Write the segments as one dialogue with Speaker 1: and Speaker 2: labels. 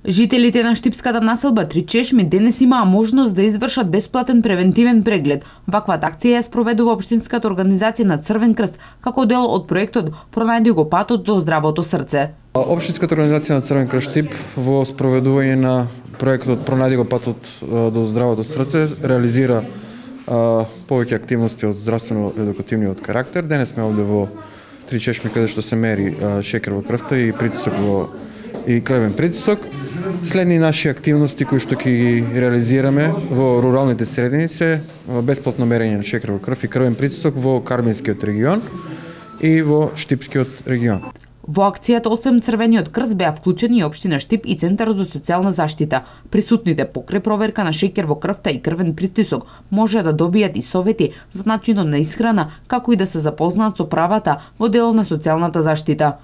Speaker 1: Жителите на штипската населба Три Чешми денес имаа можност да извршат бесплатен превентивен преглед. Ваквата акција ја спроведува општинската организација на Црвен крст како дел од проектот Пронајди го патот до здравото срце.
Speaker 2: Општинската организација на Црвен крст Штип во спроведување на проектот Пронајди го патот до здравото срце реализира повеќе активности од здравствено-едукативниот карактер. Денес сме овде во Три Чешми каде што се мери шекер во крвта и притисок и крвен притисок. Следни наши активности кои што ќе ги реализираме во руралните средини се бесплатно мерење на шекер во крв и крвен притисок во Карбинскиот регион и во Штипскиот регион.
Speaker 1: Во акцијата освен Црвениот крст беа вклучени и општина Штип и Центар за социјална заштита. Присутните покрај проверка на шекер во крвта и крвен притисок може да добијат и совети за начинот на исхрана, како и да се запознаат со правата во делот на социјалната заштита.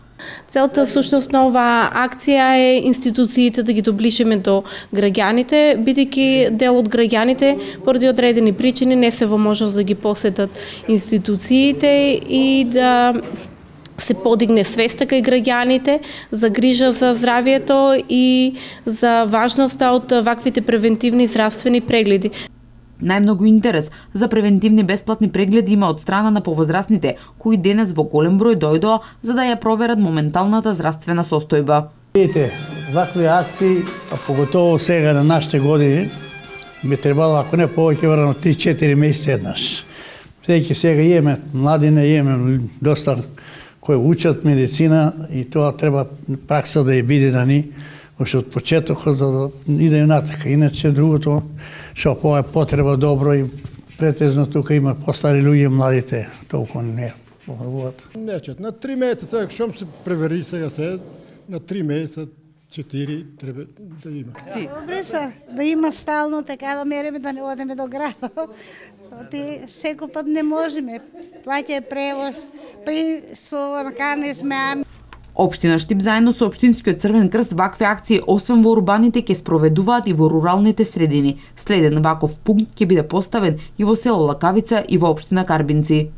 Speaker 3: Целта всушност на оваа акција е институциите да ги доближиме до граѓаните, бидејќи дел од граѓаните поради одредени причини не се во можност да ги посетат институциите и да се подигне свеста кај граѓаните за грижа за здравието и за важноста од ваквите превентивни здравствени прегледи.
Speaker 1: Најмногу интерес за превентивни бесплатни прегледи има од страна на повозрастните, кои денес во голем број дојдоа за да ја проверат моменталната здравствена состојба.
Speaker 4: Видите, вакви акции, а поготово сега на нашите години, би требало, ако не повеќе, веројатно 3-4 месеци еднаш. Бидејќи сега имаме младине, имаме доста кои учат медицина и тоа треба пракса да ја биде на ни уште од почетокот за да иде натака. Иначе другото што е потреба добро и претежно тука има постари луѓе, младите толку не помогуваат.
Speaker 5: Нечет, на 3 месеца сега шом се превери сега се на 3 месеца 4 треба да има.
Speaker 6: Добре се да има стално така да мериме да не одиме до градот. Секој пат не можеме. Плаќа превоз, па и со накане сме.
Speaker 1: Општина Штип заедно со Општинскиот Црвен крст вакви акции освен во урбаните ќе спроведуваат и во руралните средини. Следен ваков пункт ќе биде поставен и во село Лакавица и во општина Карбинци.